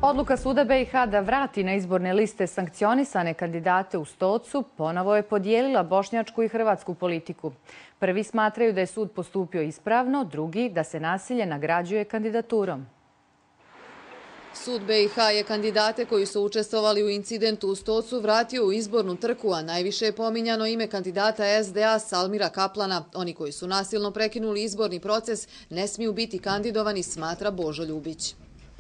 Odluka suda BiH da vrati na izborne liste sankcionisane kandidate u Stocu ponovo je podijelila bošnjačku i hrvatsku politiku. Prvi smatraju da je sud postupio ispravno, drugi da se nasilje nagrađuje kandidaturom. Sud BiH je kandidate koji su učestvovali u incidentu u Stocu vratio u izbornu trku, a najviše je pominjano ime kandidata SDA Salmira Kaplana. Oni koji su nasilno prekinuli izborni proces ne smiju biti kandidovani, smatra Božo Ljubić.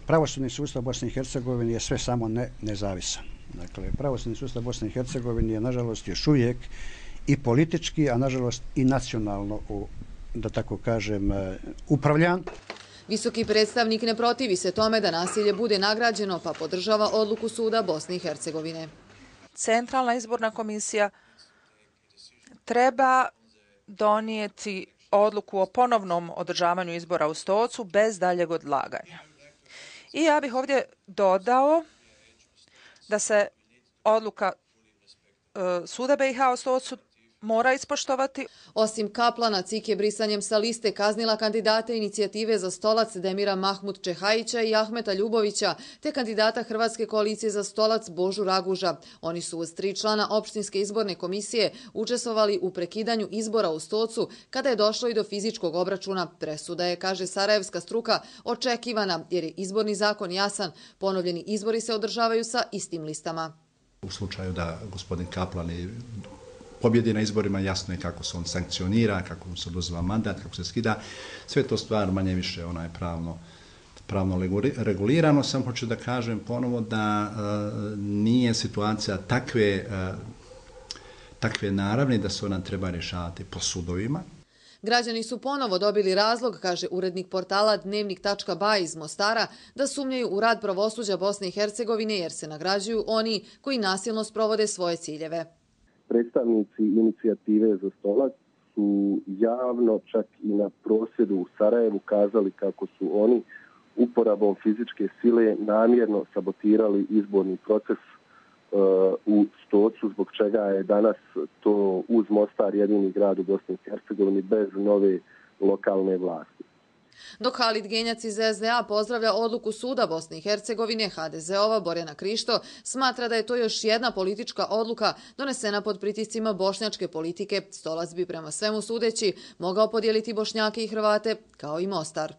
Pravosudni sustav Bosne i Hercegovine je sve samo ne nezavisan. Dakle, pravosudni sustav Bosne i Hercegovine je nažalost još uvijek i politički, a nažalost i nacionalno, da tako kažem, upravljan. Visoki predstavnik ne protivi se tome da nasilje bude nagrađeno, pa podržava odluku suda Bosne i Hercegovine. Centralna izborna komisija treba donijeti odluku o ponovnom održavanju izbora u Stocu bez daljeg odlaganja. I ja bih ovdje dodao da se odluka suda BiH o Stocu mora ispoštovati. Osim Kaplana, CIK je brisanjem sa liste kaznila kandidate inicijative za Stolac Demira Mahmud Čehajića i Ahmeta Ljubovića, te kandidata Hrvatske koalicije za Stolac Božu Raguža. Oni su uz 3 člana opštinske izborne komisije učestvovali u prekidanju izbora u Stocu kada je došlo i do fizičkog obračuna. Presuda je, kaže sarajevska struka, očekivana jer je izborni zakon jasan. Ponovljeni izbori se održavaju sa istim listama. U slučaju da gospodin Kaplan pobjedi na izborima, jasno je kako se on sankcionira, kako mu se oduzima mandat, kako se skida. Sve to stvar manje više pravno regulirano. Sam hoću da kažem ponovo da nije situacija takve naravne da se ona treba rješavati po sudovima. Građani su ponovo dobili razlog, kaže urednik portala Dnevnik.ba iz Mostara, da sumnjaju u rad pravosuđa Bosne i Hercegovine jer se nagrađuju oni koji nasilno sprovode svoje ciljeve. Predstavnici inicijative za Stolac su javno, čak i na prosvjedu u Sarajevu, kazali kako su oni uporabom fizičke sile namjerno sabotirali izborni proces u Stocu, zbog čega je danas to uz Mostar jedini grad u Bosni i Hercegovini bez nove lokalne vlasti. Dok Halid Genjac iz SDA pozdravlja odluku suda Bosne i Hercegovine, HDZ-ova Borjana Krišto smatra da je to još jedna politička odluka donesena pod pritiscima bošnjačke politike. Stolac bi prema svemu sudeći mogao podijeliti Bošnjake i Hrvate kao i Mostar.